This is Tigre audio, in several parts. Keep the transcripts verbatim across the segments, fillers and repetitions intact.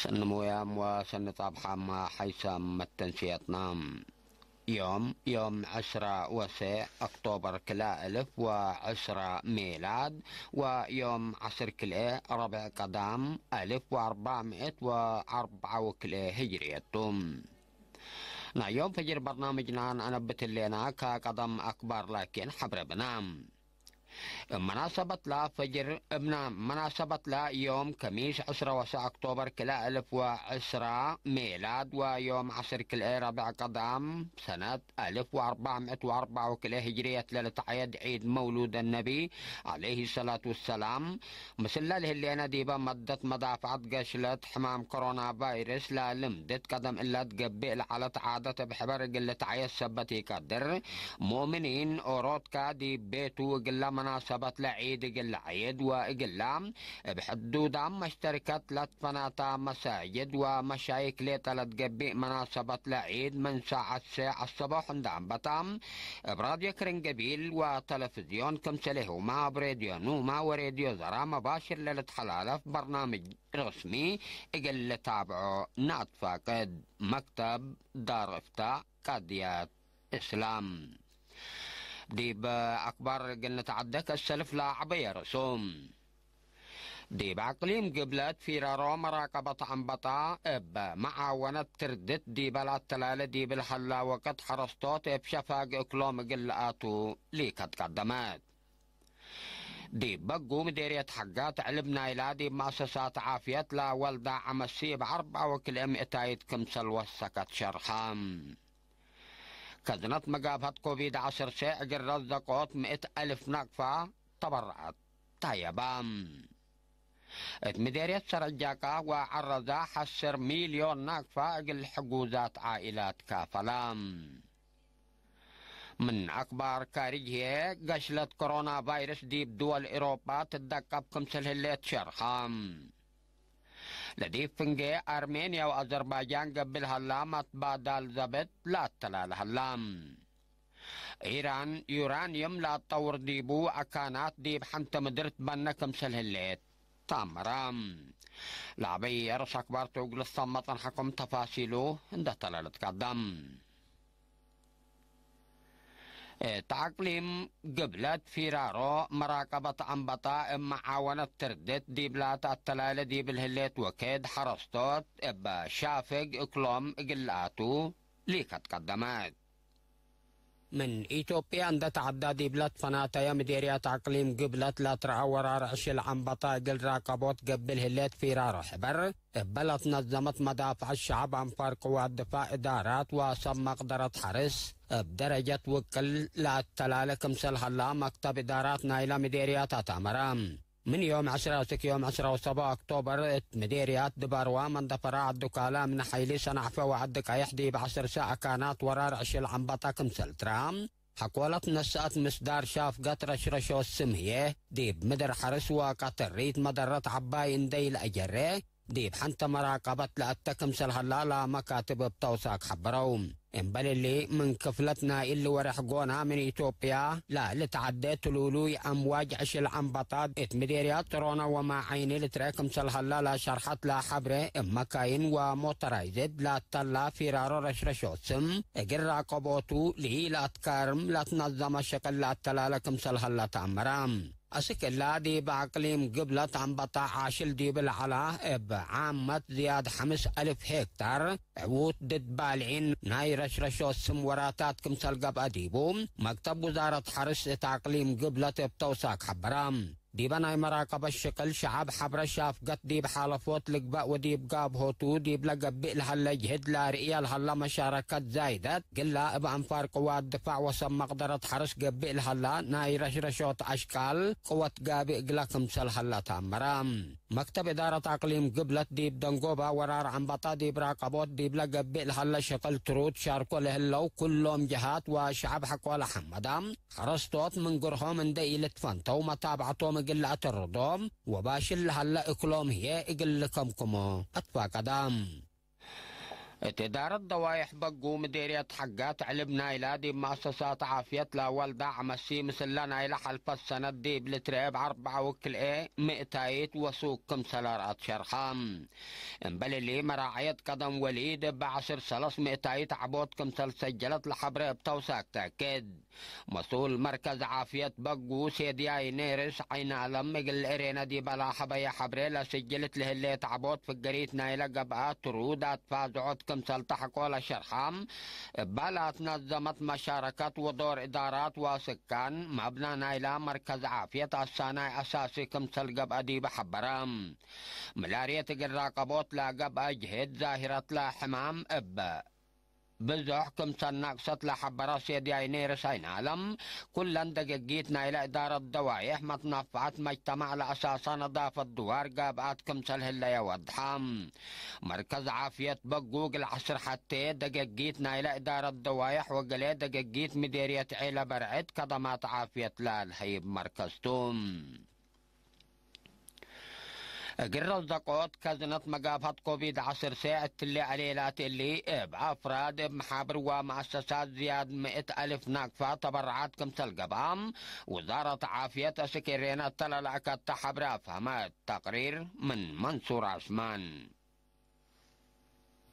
ሰኒ ሙያም ወሰኒ ጻብሓም ሐይሰም መተንስየትና። ዮም፣ ዮም ዕስራ ወሰዕ ኦክቶበር ክልኤ እልፍ ወዕስራ ሜላድ፣ ወዮም ዐስር ክልኤ ረብዕ ቀዳም አልፍ ወአርባዕ ምእት ወአርብዓ ወክልኤ ህጅርየት ቱ። ናይ ዮም ፈጅር በርናምጅና ነአነብት ህሌና፣ ከቀደም አክባር ላኪን ሐብረ ብና። እብ መናሰበትላ ፈጅር፣ እብ መናሰበትላ ዮም ከሚስ ዕስራ ወሰዕ ኦክቶበር ክልኤ እልፍ ወዕስራ ሜላድ ወዮም ዐስር ክልኤ ረብዕ ቀዳም ሰነት አልፍ ወአርባዕ ምእት ወአርብዓ ወክልኤ ህጅርየት ለልትዐየድ ዒድ መውሉድ ነቢ ዐለይሂ ሰላቱ ወሰላም፣ ምስለ ለህሌነ ዲበ መደት መዳፍዐት ገሽለት ሕማም ኮሮና ቫይረስ ለልምድት ቀደም እለ ትገብእ ለዐለት ዓደት እብ ሕበር እግል ልትዐየድ ሰበት ኢቀድር። ሙእምኒን ኦሮትካ ዲብ ቤቱ እግለ መናሰበት ለዒድ እግል ለዐየድ ወእግላ እብ ሕዱዳም መሽተርከት ለትፈናታ መሳጅድ ወመሻይክ ሌጠ ለትገብእ መናሰበት ለዒድ ምን ሳዐት ሸዕ አሰቦሕ እንደ አንበታ እብ ራድዮ ክርንገቢል ወተለፍዝዮን ክምሰሌሁማ እብ ሬድዮ ኑማ ወሬድዮ ዘራ መባሽር ለልትሐላለፍ በርናምጅ ረስሚ እግል ልታብዖ ነአትፋቅድ። መክተብ ዳር እፍታእ ቃድያት እስላም። ዲብ አክባር እግል ንትዐደ ከሰልፍ ለዐበየ ርሱም። ዲብ አቅሊም ግብለት ፊራሮ መራቀበት አንበጣ እብ መዓወነት ትርድት ዲበ ለአተላለ ዲብ ለሀላ ወቅት ሐረስቶት እብ ሸፋግ እክሎም እግል ለአቱ ሊከት ቀደመት። ዲብ በጉ ምዴርየት ሐጋት ዕልብ ናይላ ዲብ መአሰሳት ዓፍየት ለወልዳ ዐመሲ እብ አርበዓ ወክልኤ ምእታይት ክምሰል ወሰከት ሸርሐ። ከዝነት መጋብሀት ኮቪድ ዐሰርተ እግል ረዘቆት ምእት አልፍ ናቅፋ ተበረዐት ታየባ። እት ምዴርየት ሰረጃቃ ወዐረዛ ዐስር ሚልዮን ናቅፋ እግል ሕጉዛት ዓኢላት ካፈላ። ምን አክባር ካርጅ ህዬ፣ ገሽለት ኮሮና ቫይረስ ዲብ ድወል ኤሮጳ ትደቀብ ክምሰል ህሌት ሸርሐ። ለዲብ ፍንጌ አርሜንያ ወአዘርባይጃን ገብእ ለሀላ መትባዳል ዘብጥ ለአተላለ ሀላ። ኢራን ዩራንየም ለአትጠውር ዲቡ አካናት ዲብ ሐንተ ምድር ትበነ ክምሰል ህሌት ተአመረ። ለአበይ አርስ አክባር ቱ እግል ሰመ ጸንሐኩም ተፋሲሉ እንደ ተለለት ቀደም። እት አቅሊም ግብለት ፊራሮ መራቀበት አንበጣ እብ መዓወነት ትርድት ዲብላ ተአተላለ ዲብ ለህሌት ወክድ ሐረስቶት እብ ሻፍግ እክሎም እግል ለአቱ ሊከት ቀደመት። ምን ኢትዮጵያ እንደ ተዐዳ ዲብለ ትፈናተየ ምዴርያት አቅሊም ግብለት ለትረአ ወራር ዕሽል ዐንበጣ እግል ራቀቦት ገብእ ለህሌት ፊራሮ ሕበር፣ እበ ለትነዘመት መዳፍዐት ሸዐብ አንፋር ቅዋት ድፋዕ እዳራት ወሰብ መቅደረት ሐርስ እብ ደረጀት ውቅል ለአተላለ ክምሰል ሀላ መክተብ እዳራት ናይለ ምዴርያት አትአመረ። ምን ዮም ዐስር አስክ ዮም ዐስራ ወሰብዓ ኦክቶበር እት ምዴርያት ድባርዋ መንደፈራ ዐድ ዱካላ እምነ ሐይሊ ሰናዕፈ ወዐድ ቀየሕ ዲብ ዐስር ሰዕ አካናት ወራር ዕሽል ዐንበጣ ክምሰል ትረአ። ሐቆለት ነስአት ምስዳር ሻፍገት ረሽረሾት ስም ህዬ፣ ዲብ ምድር ሐርስ ወቀተሪት መደረት ዐባይ እንዴ ኢለአጀሬ፣ ዲብ ሐንተ መራቀበት ለአተ ክምሰል ሀላ ለመካትብ እብ ተውሳክ ሐበረው። እምበል እሊ፣ ምን ክፍለት ናይ እሊ ወሬሕ ጎና ምን ኢትዮጵያ ለልትዐዴ ትሉሉይ አምዋጅ ዕሽል ዐንበጣ እት ምዴርያት ጥሮነ ወማዐይኒ ልትረኤ ክምሰል ሀላ ለሸርሐት ለሐብሬ፣ እብ መካይን ወሞተራይዝድ ለአተላ ፊራሮ ረሽረሾት ስም እግል ራቀቦቱ ለኢለአትካርም ለትነዘመ ሸቅል ለአተላለ ክምሰል ሀላ ተአመረ። አስክ እላ፣ ዲብ አቅሊም ግብለት አንበጣ ዓሽል ዲብ ለዐላ፣ እብ ዓመት ዝያድ ሐምስ አልፍ ሄክታር ዕዉት ድድ ባልዒን ናይ ረሽረሾት ስም ወራታት ክምሰል ገብአ ዲቡ፣ መክተብ ውዛረት ሐርስ እት አቅሊም ግብለት እብ ተውሳክ ሐበረ። ዲበ ናይ መራቀበት ሽቅል፣ ሸዐብ ሐብረ ሻፍገት ዲብ ሓለፎት ልግበእ ወዲብ ጋብሆቱ ዲብ ለገብእ ለሀለ ጅህድ ለአርእየ ለሀለ መሻረከት ዛይደት፣ ግላ እብ አንፋር ቅዋት ድፋዕ ወሰብ መቅደረት ሐርስ ገብእ ለሀላ ናይ ረሽረሾት አሽቃል ቅወት ጋብእ እግለ ክምሰል ሀላ ተአመረ። መክተብ እዳረት አቅሊም ግብለት ዲብ ደንጎባ ወራር ዐንበጣ ዲብ ራቀቦት ዲብለ ገብእ ለሀለ ሽቅል ትሩድ ሻርኮ ለህለው ኩሎም ጀሃት ወሸዐብ ሐቆለ ሐመዳ፣ ሐረስቶት ምን ግርሆም እንዴ ኢልትፈንተው መታብዐቶም እግል ለአተርዶም ወባሽል ለሀለ እክሎም ህዬ እግል ልከምክሞ አትፋቀዳ። እት እዳረት ደዋይሕ በጉ ምዴርየት ሐጋት ዕልብ ናይላ ዲብ መአሰሳት ዓፍየት ለአወል ዳዕም አሲ ምስለ ናይለ ሐልፈት ሰነት ዲብ ልትርኤ እብ አርበዕ ወክልኤ ምእታይት ወሱቅ ክምሰል አርአት ሸርሐ። እምበል እሊ መራዐየት ቀደም ወሊድ እብ ዐስር ሰለስ ምእታይት ዐቦት ክምሰል ሰጀለት ለሐብረ እብ ተውሳክ ተአክድ። መስኡል መርከዝ ዓፍየት በጉ ሴድያይ ኔርስ ዐይን አለም እግል ኤሬነ ዲበ ለአሐበየ ሐብሬ ለስጅልት ለህሌት ዐቦት ፍገሪት ናይለ ገብአ ትሩድ አትፋዝዖት ክምሰል ተሐቆ ለሸርሐ፣ እባ ለአትነዘመት መሻረከት ወዶር እዳራት ወስካን መብነ ናይላ መርከዝ ዓፍየት አሳናይ አሳሲ ክምሰል ገብአ ዲበ ሐበረ። ምላርየት እግል ራቀቦት ለገብአ ጅህድ ዛሂረት ለሕማም እብ ብዞሕ ክምሰል ነቅሰት ለሐበረ ሴድያይ ኔርስ ዐይን አለም፣ ኩለን ደገጊት ናይለ እዳረት ደዋይሕ መትነፈዐት መጅተማዕ ለአሳሳ ነዳፈት ድዋር ገብአት ክምሰል ህለየ ወድሐ። መርከዝ ዓፍየት በጉ እግል ዐስር ሐቴ ደገጊት ናይለ እዳረት ደዋይሕ ወገሌ ደገጊት ምዴርየት ዔለ በርዕድ ከደማት ዓፍየት ለአልሀይብ መርከዝ ቱ። እግል ረዘቆት ከዝነት መጋፋት ኮቪድ ዐስር ሴዕ እትሊ አሌላት እሊ፣ እብ አፍራድ፣ እብ መሓብር ወመአሰሳት ዝያድ ምእት አልፍ ናቅፋ ተበረዓት ክምሰል ገብአ፣ ውዛረት ዓፍየት አስክ ኤሬነ እተ ለለአከተ ሐብሬ አፍሀመት። ተቅሪር ምን መንሱር ዐስማን።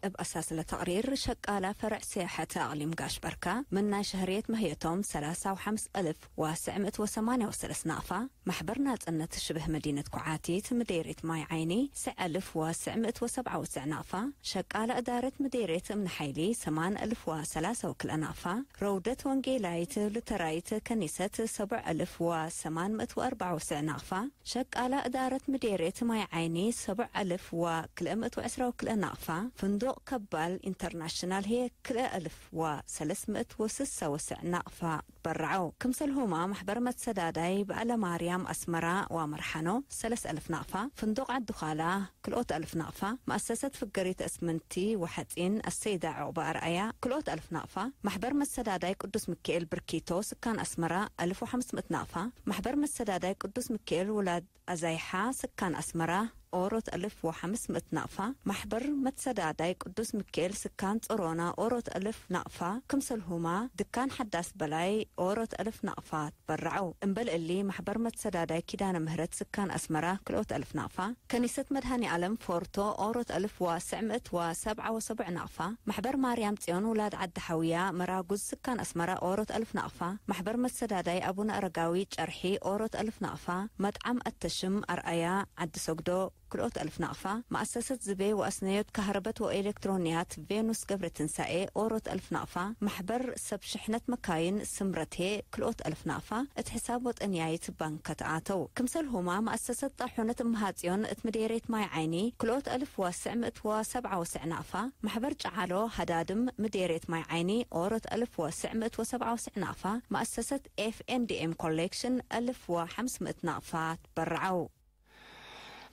እብ አሳስ ለተቅሪር፣ ሸቃላ ፈርዕ ሲያሐት አቅሊም ጋሽ በርካ ምን ናይ ሸህርየት መህየቶም ሰላሳ ወሐምስ አልፍ ወትስዕ ምእት ወሰማንያ ወሰለስ ናቅፋ፣ መሕበር ናጽነት ሽብህ መዲነት ኮዓቲት ምዴርየት ማይ ዓይኒ ትስዕ አልፍ ወትስዕ ምእት ወሰብዓ ወትስዕ ናቅፋ፣ ሸቃላ እዳረት ምዴርየት እምነ ሓይሊ ሰማን አልፍ ወሰላሳ ወክልኤ ናቅፋ፣ ረውደት ወንጌላይት ሉተራይት ከኒሰት ሰቡዕ አልፍ ወሰማን ምእት ወአርበዓ ወትስዕ ናቅፋ፣ ሸቃላ እዳረት ምዴርየት ማይ ዓይኒ ሰቡዕ አልፍ ወክልኤ ምእት ወዕስራ ወክልኤ ናቅፋ፣ ፍንዱቅ ከባል ኢንተርናሽናል ህዬ ክልኤ አልፍ ወሰለስ ምእት ወስሳ ወትስዕ ናቅፋ ትበረዐው። ክምሰልሁመ መሕበር መትሰዳዳይ በዐለ ማርያም አስመራ ወአመርሐኖ ሰለስ አልፍ ናቅፋ፣ ፍንዱቅ ዐዲ ኻላ ክልኦት አልፍ ናቅፋ፣ መአሰሰት ፍገሪት እስምንቲ ወሐጺን አሰይዳ ዑቅበ አርአያ ክልኦት አልፍ ናቅፋ፣ መሕበር መትሰዳዳይ ቅዱስ ሚካኤል ብርኪቶ ስካን አስመራ አልፍ ወሐምስ ምእት ናቅፋ፣ መሕበር መትሰዳዳይ ቅዱስ ሚካኤል ውላድ አዛይሓ ስካን አስመራ ኦሮት አልፍ ወሐምስ ምእት ናቅፋ፣ መሕበር መትሰዳዳይ ቅዱስ ሚካኤል ስካን ጾሮና ኦሮት አልፍ ናቅፋ፣ ክምሰልሁማ ድካን ሐዳስ በላይ ኦሮት አልፍ ናቅፋ ትበረዐው። እምበል እሊ፣ መሕበር መትሰዳዳይ ኪዳነ ምህረት ስካን አስመራ ክልኦት አልፍ ናቅፋ፣ ከኒሰት መድሃኔ አለም ፎርቶ ኦሮት አልፍ ወትስዕ ምእት ወሰብዓ ወሰቡዕ ናቅፋ፣ መሕበር ማርያም ጽዮን ውላድ ዐዲ ሐውያ መራጉዝ ስካን አስመራ ኦሮት አልፍ ናቅፋ፣ መሕበር መትሰዳዳይ አቡነ አረጋዊ ጨርሒ ኦሮት አልፍ ናቅፋ፣ መጥዓም አተሽም አርአያ ዐዲ ሰግዶ ክልኦት አልፍ ናቅፋ፣ መአሰሰት ዝቤ ወአስነዮት ከህረበት ወኤሌክትሮንያት ቬኑስ ገብረትንሳኤ ኦሮት አልፍ ናቅፋ፣ መሕበር ሰብ ሽሕነት መካይን ስምረቴ ክልኦት አልፍ ናቅፋ እት ሕሳብ ወጠንያይት ባንከ ተአተው። ክምሰልሁማ መአሰሰት ጣሑነት እምሃጽዮን እት ምዴርየት ማይ ዓይኒ ክልኦት አልፍ ወትስዕ ምእት ወሰብዓ ወትስዕ ናቅፋ፣ መሕበር ጨዓሎ ሀዳድም ምዴርየት ማይ ዓይኒ ኦሮት አልፍ ወትስዕ ምእት ወሰብዓ ወትስዕ ናቅፋ፣ መአሰሰት ኤፍ ኤን ዲ ኤም ኮሌክሽን አልፍ ወሐምስ ምእት ናቅፋ ትበረዐው።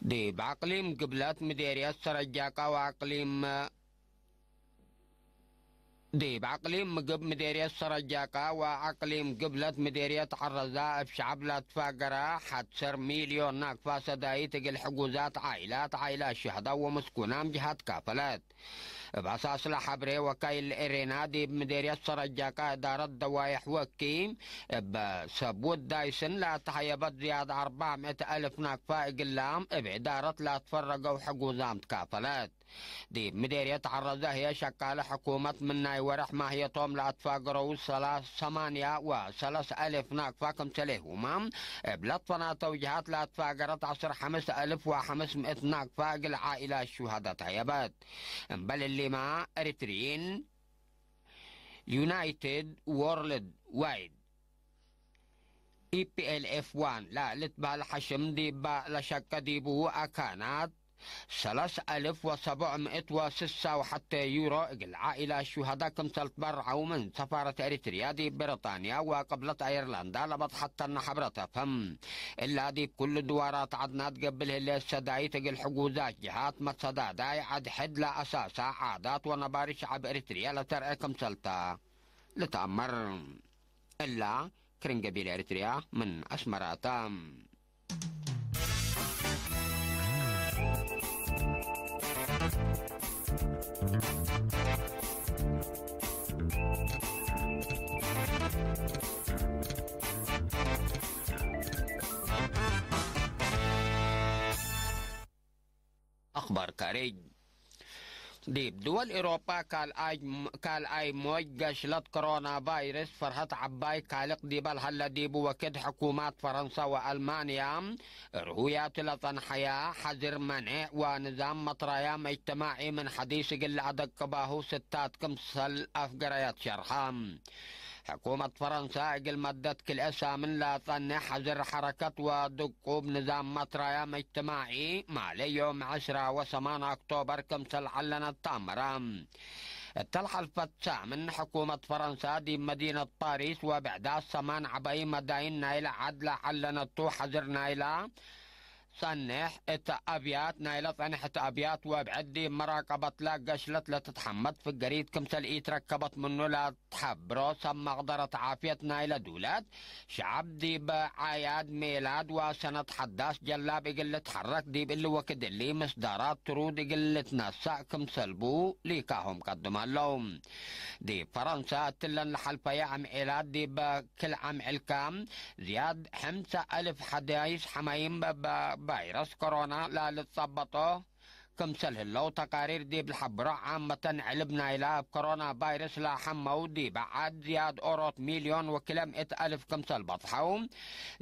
ዲብ አቅሊም ግብለት ምዴርየት ሰረጃቃ ወአቅሊም፣ ዲብ አቅሊም ምግብ ምዴርየት ሰረጃቃ ወአቅሊም ግብለት ምዴርየት ዐረዛ እብ ሸዐብ ለአትፋገረ ሐድ ዐሰር ሚልዮን ናቅፋ ሰዳይት እግል ሕጉዛት ዓኢላት፣ ዓኢላት ሹሀዳእ ወምስኩናም ጅሃት ካፈለት። እብ አሳስ ለሐብሬ ወካይል ኤሬና ዲብ ምዴርየት ሰረጃቃ እዳረት ደዋይሕ ወኪ፣ እብ ሰብ ውዳይ ስን ለአተሐየበት ዝያድ አርበዕ ምእት አልፍ ናቅፋ እግላም እብ እዳረት ለአትፈረገው ሕጉዛም ትካፈለት። ዲብ ምዴርየት ዐረዘ ህዬ ሸቃለ ሕኩመት ምን ናይ ወርሕ ማህየቶም ለአትፋገረው ሰላ-፣ ሰማንያ ወሰለስ አልፍ ናቅፋ ክምሰሌሁመ፣ እብ ለትፈናተው ጅሃት ለአትፋገረት ዐስር ሐምስ አልፍ ወሐምስ ምእት ናቅፋ እግል ዓኢላት ሹሀዳእ ተሀየበት። እምበል እሊመ፣ ኤሪትሪይን ዩናይትድ ዎርልድ ዋይድ፣ ኢ ፒ ኤል ኤፍ ዋን፣ ለልትበህል ሐሽም ዲበ ለሸቀ ዲቡ አካናት፣ ሰለስ አልፍ ወሰቡዕ ምእት ወስሳ ወሐቴ ዩሮ እግል ዓኢላት ሹሀዳእ ክምሰል ትበርዐው ምን ሰፋረት ኤሪትርያ ዲብ ብሪጣንያ ወቅብለት አየርላንዳ ለበጽሐተነ ሐብረት አፍህም። እላ ዲብ ኩሉ ድዋራት ዐድናት ገብእ ህሌት ሰዳይት እግል ሕጉዛት ጅሃት መትሰዳዳይ ዐድ ሕድ ለአሳሳ ዓዳት ወነባሪ ሸዐብ ኤሪትርየ ለተርኤ ክምሰልተ ልትአመር። እላ ክርን ገቢል ኤሪትርያ ምን አስመራተ። አክባር ካሬጅ። ዲብ ድወል ኤሮጳ ካልኣይ፣ ካልኣይ ሞጅ ገሽለት ኮሮና ቫይረስ ፈርሀት ዐባይ ካልቅ ዲበ ለሀለ ዲቡ ወክድ፣ ሕኩማት ፈረንሳ ወአልማንያ ርሁያቱ ለጸንሐያ ሐዝር መንዕ ወንዛም መትራያም እጅትማዒ ምን ሐዲስ እግል ለአደቅባሁ ስታት ክምሰል አፍገረየት ሸርሐ። ሕኩመት ፈረንሳ እግል መደት ክልኤ ሳምን ለጸንሕ ሐዝር ሐረከት ወድቁብ ንዛም መትራያም እጅትማዒ ማሌ ዮም ዐስራ ወሰማን ኦክቶበር ክምሰል ዐለነት ተአምረ። እተ ለሐልፈት ሳምን ሕኩመት ፈረንሳ ዲብ መዲነት ፓሪስ ወብዕዳት ሰማን ዐበይ መዳይን ናይለ ዐድ ለዐለነቱ ሐዝር ናይለ ጸንሕ እት አብያት፣ ናይለ ጸንሕ እት አብያት ወብዕድ ዲብ መራቀበትለ ገሽለት ለትትሐመድ ፍገሪት ክምሰል ኢትረከበት ምኑ ለትሐብሮ ሰብ መቅደረት ዓፍየት ናይለ ዱለት፣ ሸዐብ ዲብ ዓያድ ሜላድ ወሰነት ሐዳስ ጀላብ እግል ልትሐረክ ዲብ እሊ ወክድ እሊ ምስዳራት ትሩድ እግል ልትነሳእ ክምሰልቡ ሊካሆም ቀድም ሀለው። ዲብ ፈረንሳ እትለን ለሐልፈየ አምዔላት ዲብ ክል አምዕልከ ዝያድ ሕምሰ አልፍ ሐዳይስ ሐማይም በ-፣ በ-፣ ቫይረስ ኮሮና ለልትጸበጦ ክምሰል ህለው ተቃሪር ዲብ ለሐብሮ፣ ዓመተን ዕልብ ናይላ እብ ኮሮና ቫይረስ ለሐመው ዲብ ዐድ ዝያድ ኦሮት ሚልዮን ወክለ ምእት አልፍ ክምሰል በጽሐው፣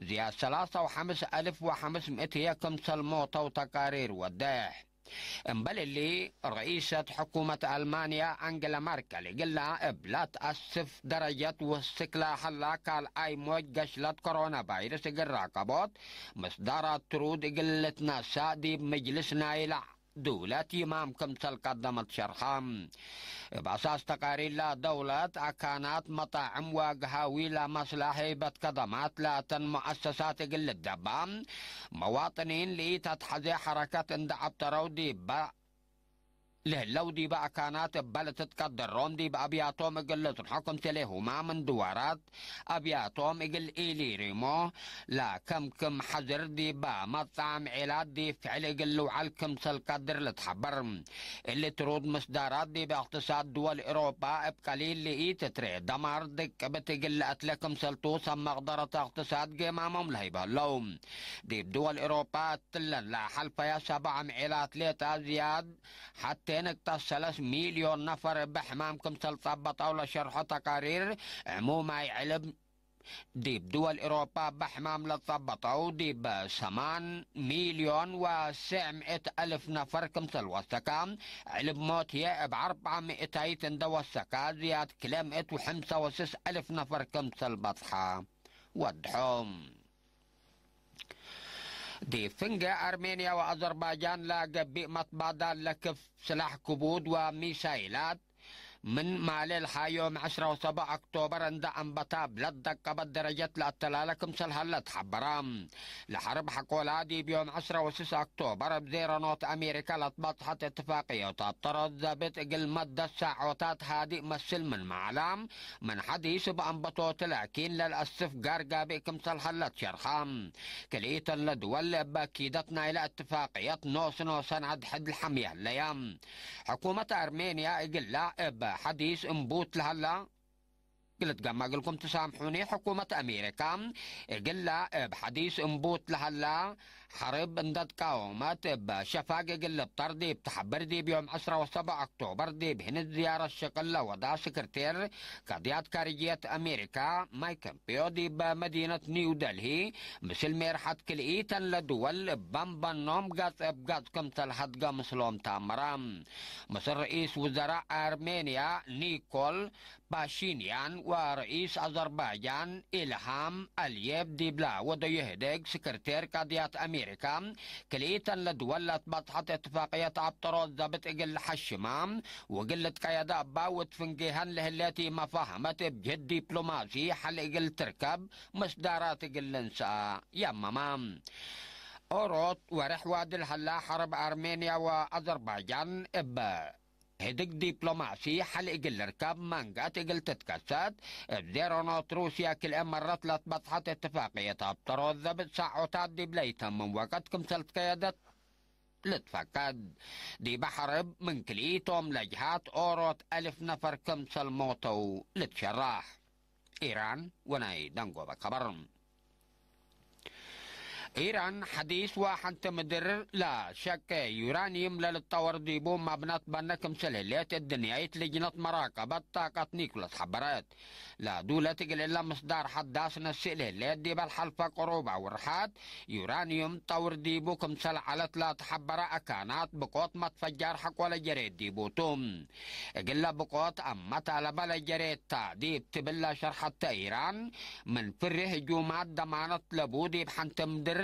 ዝያድ ሰላሳ ወሐምስ አልፍ ወሐምስ ምእት ህዬ ክምሰል ሞተው ተቃሪር ወዴሕ። እምበል እሊ፣ ረኢሰት ሕኩመት አልማንያ አንግላ መርከል እግላ እብ ለትአስፍ ደረጀት ውስክ ለሀላ ካልኣይ ሞጅ ገሽለት ኮሮና ቫይረስ እግል ራቀቦት ምስዳራት ትሩድ እግል ልትነሳእ ዲብ ምጅልስ ናይላ ድውለት ይማም ክምሰል ቀደመት ሸርሐ። እብ አሳስ ተቃሪር ለደውለት፣ አካናት፣ መጣዕም ወገሃዊ ለመስላ ሀይበት ከደማት ላተን ሙአሰሳት እግል ልትደባ፣ መዋጥኒን ለኢተትሐዜ ሐረከት እንደ ዐብጠረው ዲበ ለህለው ዲበ አካናት እበ ልትትቀደሮም ዲብ አብያቶም እግል ልጽንሖ ክምሰሌሁማ ምን ድዋራት አብያቶም እግል ኢሊሪሞ ለከምክም ሐዝር ዲብ መጽአም ዔላት ዲብ ፍዕል እግል ልውዐል ክምሰል ቀድር ልትሐበር። እሊ ትሩድ ምስዳራት ዲብ እቅትሳድ ድወል ኤሮጳ እብ ቀሊል ለኢትትሬ ደማር ድቅብት እግል ለአትለ ክምሰልቱ ሰብ መቅደረት እቅትሳድ ጌማሞም ለህይብ ህለው። ዲብ ድወል ኤሮጳ እትለን ለሐልፈያ ሰብዓ ምዔላት ሌጠ ዝያድ ሐቴ ንቅጠት ሰለስ ሚልዮን ነፈር እበ ሕማም ክምሰል ጸበጠው ለሸርሖ ተቃሪር ዕሙማይ ዕልብ፣ ዲብ ድወል ኤሮጳ እበ ሕማም ለጸበጠው ዲብ ሰማን ሚልዮን ወስዕ ምእት አልፍ ነፈር ክምሰል ወሰከ፣ ዕልብ ሞት ህዬ እብ አርበዕ ምእታይት እንደ ወሰከ፣ ዝያድ ክልኤ ምእት ወሐምሳ ወስስ አልፍ ነፈር ክምሰል በጽሐ ወድሖ። ዲብ ፍንጌ አርሜንያ ወአዘርባይጃን ለገብእ መትባዳል ለክፍ ስላሕ ክቡድ ወሚሳይላት ምን ማሌ ለሐ ዮም ዐስራ ወሰብዕ ኦክቶበር እንደ አንበታ እብ ለትደቀበት ደረጀት ለአተላለ ክምሰል ሀለ ተሐበረ። ለሐርብ ሐቆላ ዲብ ዮም ዐስራ ወስስ ኦክቶበር እብ ዜሮ ኖት አሜሪካ ለትበጽሐት እትፋቅዮት አብጠሮት ዘብጥ እግል መደት ሳዖታት ሃድእ መስል ምን መዓላ ምን ሐዲስ እብ አንበቶት ላኪን ለልአስፍ ጋር ጋብእ ክምሰል ሀለት ሸርሐ። ክልኢተን ለድወል እበ ኪደት ናይለ እትፋቅየት ኖስ ኖሰን አድሕድ ለሐምየ ህለየ። ሕኩመት አርሜንያ እግላ እብ ሐዲስ እምቡት ለሀላ፣ ግልትገመ እግልኩም ትሳምሑኒ፣ ሕኩመት አሜሪካ እግላ እብ ሐዲስ እምቡት ለሀላ ሐርብ እንደ ትቃወመት እብ ሸፋግ እግል ልብጠር ዲብ ተሐብር፣ ዲብ ዮም ዐስራ ወሰብዕ ኦክቶበር ዲብ ህንድ ዝያረት ሽቅል ለወዳ ስክርቴር ቀድያት ካርጅየት አሜሪካ ማይክ ፖምፒዮ ዲብ መዲነት ኒው ደልሂ ምስል ሜርሐት ክልኢተን ለድወል እበን በኖም ገጽ እብ ገጽ ክምሰል ሀድገ ምስሎም ተአመረ። ምስል ርኢስ ውዘራእ አርሜንያ ኒኮል ፓሺንያን ወረኢስ አዘርባይጃን ኢልሃም አልዬቭ ዲብላ ወደዩ ህዴግ ስክርቴር ቀድያት አሜሪካ፣ ክልኢተን ለድወል ለትበጽሐት እትፋቅየት አብጠሮት ዘብጥ እግል ሐሽማ ወእግል ልትቀየደ እባ ወእት ፍንጌሀን ለህሌት ኢመፋህመት እብ ጅህት ዲፕሎማሲ ሐል እግል ትርከብ ምስዳራት እግል ልንሰአ የመማ። ኦሮት ወሬሕ ዋዲ ለሀላ ሐርብ አርሜንያ ወአዘርባይጃን እብ ህድግ ዲፕሎማሲ ሐል እግል ልርከብ መንገአት እግል ትትከሰት፣ እብ ዜሮ ኖት ሩስያ ክልኤ መረት ለትበጽሐት እትፋቅየት አብጠሮት ዘብጥ ሳዖታት ዲብ ለይተምም ወቀት ክምሰል ትከየደት ልትፈቀድ። ዲበ ሐርብ ምን ክልኢቶም ለጅሃት ኦሮት አልፍ ነፈር ክምሰል ሞተው ልትሸራሕ። ኢራን ወናይ ደንጎበ ከበር። ኢራን ሐዲስ ወሐንቲ ምድር ለሸቄ ዩራንዩም ለልትጠወር ዲቡ መብነት በነ ክምሰል ህሌት፣ እድንያይት ልጅነት መራቀበት ጣቀት ኒኩለስ ሐበረት። ለዱለት እግል እለ ምስዳር ሐዳስ ነስእ ለህሌት፣ ዲበ ለሐልፈ ቅሩብ አውርሓት ዩራንዩም ጠውር ዲቡ ክምሰል ዐለት ለተሐበረ አካናት ብቆት መትፈጃር ሐቆ ለጀሬት ዲቡ ቱ። እግለ ብቆት አመት አለበ ለጀሬት ተ ዲብ ትብል ለሸርሐት ተ ኢራን፣ ምን ፍሬ ህጁማት ደማነት ለቡ ዲብ ሐንቲ ምድር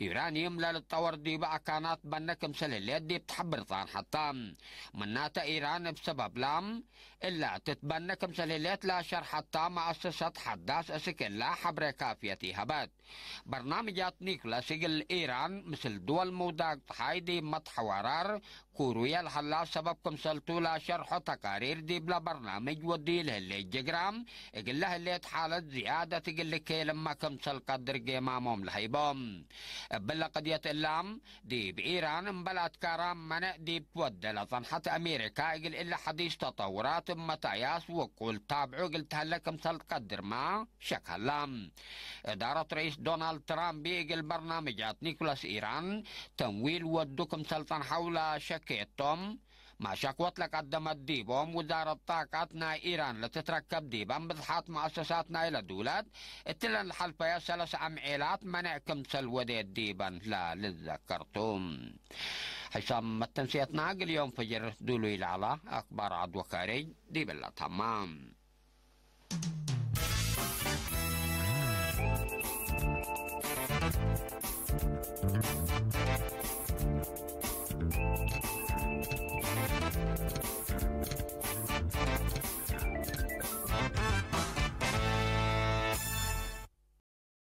ዩራንዩም ለልትጠወር ዲቡ አካናት በነ ክምሰል ህሌት ዲብ ተሐብር ጻንሐት ተ። ምናተ ኢራን እብ ሰበብላ እላ ትትበነ ክምሰል ህሌት ለሸርሐት ተ መአሰሰት ሐዳስ እስክ እላ ሐብሬ ካፍየት ኢሀበት። በርናምጃት ኒኩለስ እግል ኢራን ምስል ድወል ምውዳቅ ጸሓይ ዲብ መትሐዋራር ኩሩየ ለሀላ ሰበብ ክምሰልቱ ለሸርሖ ተቃሪር ዲብለ በርናምጅ ወዲ ለህሌት ጅግራ እግለ ህሌት ሓለት ዝያደት እግል ልኬልመ ክምሰል ቀድር ጌማሞም ለሀይቦም። እብለ ቅድየት እላም ዲብ ኢራን እምበል አትካራም መነእ ዲብ ትወዴ ለጸንሐት አሜሪካ እግል እለ ሐዲስ ተጠውራት እብ መትአያስ ውቁል ታብዑ እግል ተሀለ ክምሰል ትቀድርመ ሸክ ሀላ። እዳረት ረኢስ ዶናልድ ትራምፕ እግል በርናምጃት ኒኩለስ ኢራን ተምዊል ወዱ ክምሰል ጸንሐው ለሸኬቶም፣ ማሻክወት ለቀደመት ዲቦም ውዛረት ጣቀት ናይ ኢራን ለትትረከብ ዲበን ብዝሓት መአሰሳት ናይለ ዱለት እትለን ለሐልፈየ ሰለስ አምዔላት መነዕ ክምሰል ወዴት ዲበን ለልዘከር ቱ። ሕሳም መተንስየትና እግል ዮም ፈጅር ዱሉይ ለዐለ አክባር ዐድ ወካሬጅ ዲብለ ተማም።